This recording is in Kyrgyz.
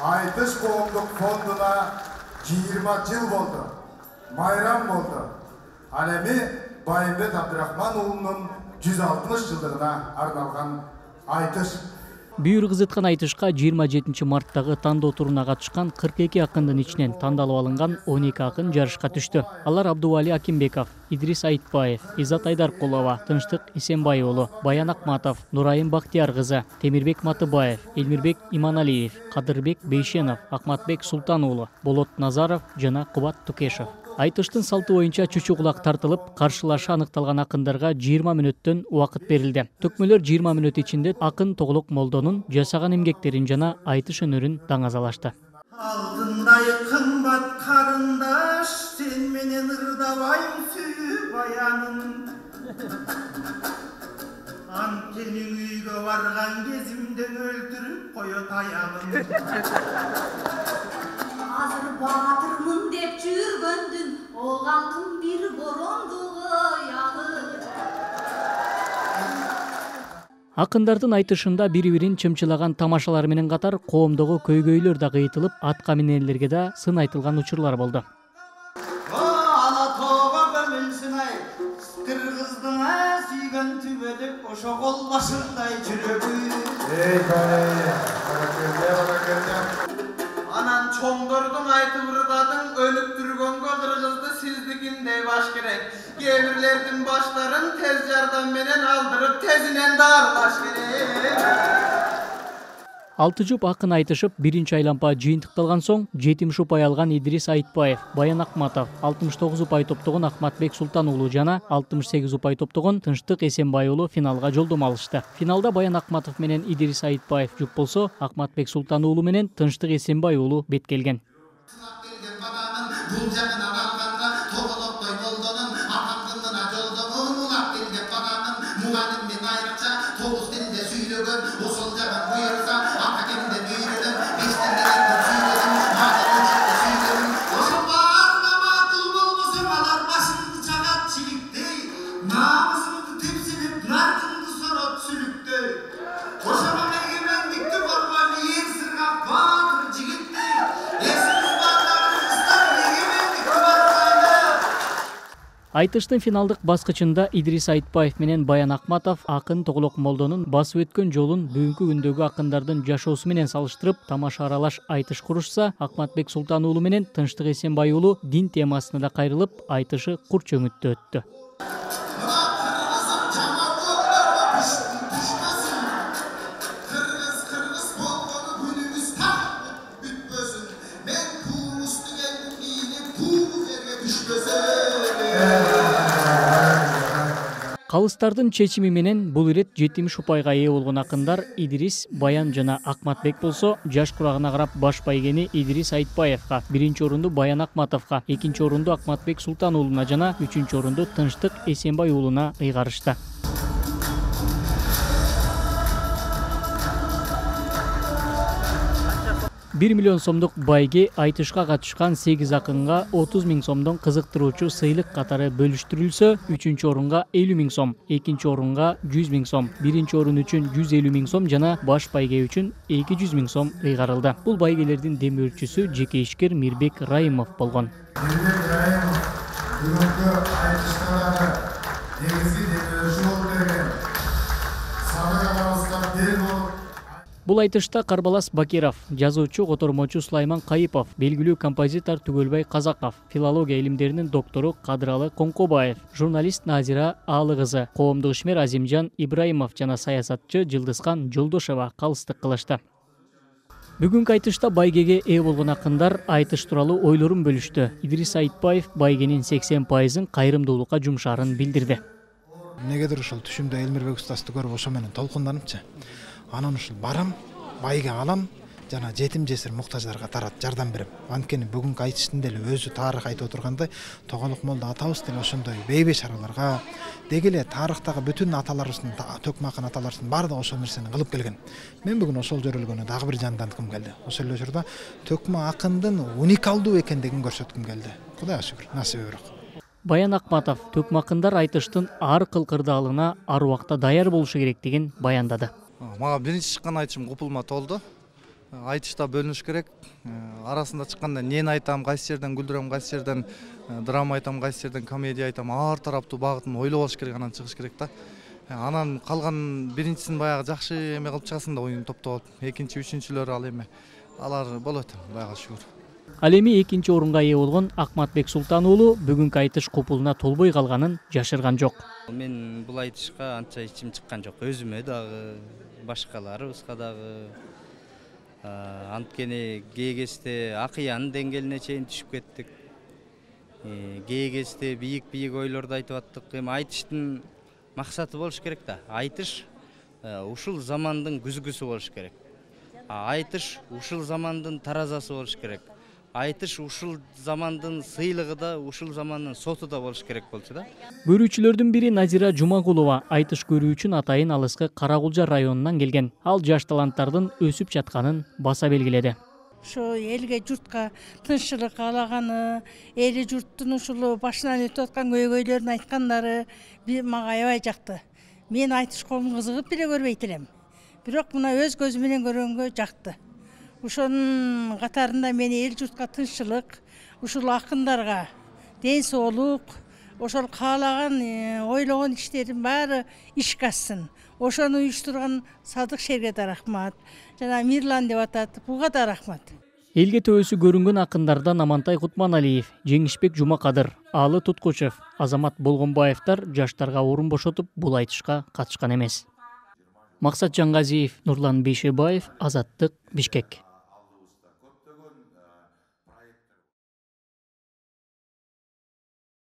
Айтыш коомдук фондуна 20 жыл болду. Майрам болду. Ал эми Байымбет Абдрахман уулунун 160 жылдыгына арналган айтыш. Бүйүр кызыткан айтышка 27 марттагы тандоо турuna катышкан 42 акындын ичинен тандалып алынган 12 акын жарышка түштү. Алар Абдували Акимбеков, Идрис Айтбаев, Изат Айдаркулова, Тынчтык Исенбай уулу, Баян Акматов, Нурайым Бактияр кызы, Темирбек Матыбаев, Элмирбек Иманалиев, Кадырбек Бейшенов, Акматбек Султан уулу, Болот Назаров жана Кубат Тукешев. Айтыштын салты боюнча чучу кулак тартылып, каршылашы аныкталган акындарга 20 мүнөттөн убакыт берилди. Төкмөлөр 20 мүнөт ичинде акын Тоглок Молдонун жасаган эмгектерин жана айтыш өнөрүн даңазалашты. Алтындай кымбат карындаш, сен менен ырдабайм сүйүү баянын. Анткени үйгө барган кезимде өлтүрүп коет аягын. Азыр баатырмын деп жүргөндүн, оған бир борондугу ягы. Акындардын айтышында бири-бирин чымчылаган тамашалар менен катар коомдогу көйгөйлөр да кыйтылып, ат каминелерге да сын айтылган учурлар болду. Ала тоого көмүлсүн ай, кыргыздын сүйгөн түбөлүк ошо кол башындай жүрөгү. Анан чоңдордун айтып ырдадың, өнүктүргөнгө кыргызды сиздикиндей баш керек. Кээ-бирлердин баштарын тез жардам менен алдырып, тезинен дарылаш керек. 6 жуп акын айтышып, биринчи айлампа жыйынтыкталган соң 70 упай алган Идрис Айтбаев, Баян Акматов, 69 упай топтогон Акматбек Султан уулу жана 68 упай топтогон Тынчтык Эсенбай уулу финалга жолдомо алышты. Финалда Баян Акматов менен Идрис Айтбаев жуп болсо, Акматбек Султан уулу менен Тынчтык Эсенбай уулу бет келген. Айтыштын финалдык баскычында Идрис Айтбаев менен Баян Акматов акын Тоглок Молдонун басып өткөн жолун бүгүнкү күндөгү акындардын жашоосу менен салыштырып, тамаша аралаш айтыш курушса, Акматбек Султан уулу менен Тынчтык Эсенбай уулу дин темасына да кайрылып, айтышы кур чөңүттө өттү. Калыстардын чечими менен бул ирет 70 упайга ээ болгон акындар Идрис, Баян жана Акматбек болсо, жаш курагына карап баш байгени Идрис Айтбаевга, биринчи орунду Баян Акматовго, экинчи орунду Акматбек Султан уулуна жана үчүнчү орунду Тынчтык Эсенбай уулуна ыйгарышты. 1 миллион сомдук байге айтышка катышкан 8 акынга 30 000 сомдон кызыктыруучу сыйлык катары бөлүштүрүлсө, 3-чү орунга 50 000 сом, 2-чи орунга 100 000 сом, 1-чи орун үчүн 150 000 сом жана баш байге үчүн 200 000 сом ыйгарылды. Бул байгелердин демөөрчүсү жеке ишкер Мирбек Райымов болгон. Мирбек Райымов бүгүнкү айтыштагы негизги демөөрчү болуп берген. Сабырыбызга бел болуп. Бул айтышта Карбалас Бакиров, жазуучу котормочу Сулайман Кайыпов, белгилүү композитор Түгөлбай Казаков, филология илимдеринин доктору Кадыралы Коңкобаев, журналист Назира Аалы кызы, коомдук ишмер Азимжан Ибраимов жана саясатчы Жылдызкан Жолдошева калыстык кылышты. Бүгүнкү айтышта байгеге ээ болгон акындар айтыш тууралуу ойлорун бөлүштү. Идрис Айтбаев байгенин 80%-ын кайрымдуулукка жумшаарын билдирди. Негедир ушул түшүмдө Элмирбек устазды көрүп ошо менен толкунданымчы. Анан ушул барам, байге алам, жана жетим жесир муктаждарга тарат жардам берем. Анткени бүгүнкү айтыштын деле өзү тарых айтып отургандай, Тоголок Молдо атабыз деле ошондой бейбе шараларга, деги эле тарыхтагы бүтүн аталарыбыздын, төкмө акын аталарыбыздын баардыгы ошол нерсени кылып келген. Мен бүгүн ошол жөрөлгөнү дагы бир жанданткым келди. Ошол эле учурда төкмө акындын уникалдуу экендигин көрсөткүм келди. Кудайга шүгүр, насиби бирок. Баян Акматов төкмө акындар айтыштын ар кылкырдаалына ар убакта даяр болушу керектигин баяндады. Мага биринчи чыккан айтышым купулма толду. айтышта бөлүнүш керек. Арасында чыкканда нени айтам, кайсы жерден күлдүрөм, кайсы жерден драма айтам, кайсы жерден комедия айтам, ар тараптуу багытын ойлоп алыш керек, анан чыгыш керек да. Анан калган биринчисин баягы жакшы эме кылып чыгасың да, оюн топтоп алып. Экинчи, үчүнчүлөр ал эме. Алар болот, Кудайга шүгүр. Ал эми экинчи орунга ээ болгон Акматбек Султан уулу бүгүнкү айтыш купулуна толбой калганын жашырган жок. Мен бул айтышка анча ичим чыккан жок. Өзүмө дагы, башкаларыбызга дагы. Анткени кээ кезде акыянын деңгээлине чейин түшүп кеттик. Кээ кезде бийик ойлорду айтып аттык. Эми айтыштын максаты болуш керек да. Айтыш ушул замандын күзгүсү болуш керек. Айтыш ушул замандын таразасы болуш керек. Айтыш ушул замандын сыйлыгы да, ушул замандын соту да болуш керек болчу да. Көрүүчүлөрдүн бири Назира Жумагулова айтыш көрүү үчүн атайын алыскы Каракулжа районунан келген. Ал жаш таланттардын өсүп жатканын баса белгиледи. Ошо элге журтка тынччылык каалаганы, эли журттун ушул башынан өтүп аткан көйгөйлөрүн айткандары мага аябай жакты. Мен айтыш колун кызыгып деле көрбөйт элем. Бирок мына өз көзү менен көргөнгө жакты. Ошонун катарында мен эл журтка тынччылык, ушул акындарга ден соолук, ошол каалаган, ойлогон иштерин баары ишке ашсын. Ошону уюштурган Садык Шерге да рахмат. Жана Мирлан деп атат, буга да рахмат. Элге төбөсү көрүнгөн акындардан Амантай Кутманалиев, Жеңишбек Жумакадыр, Аалы Туткучев, Азамат Болгонбаевдер жаштарга орун бошотуп бул айтышка катышкан эмес. Максат Жангазиев, Нурлан Бейшебаев, Азаттык, Бишкек.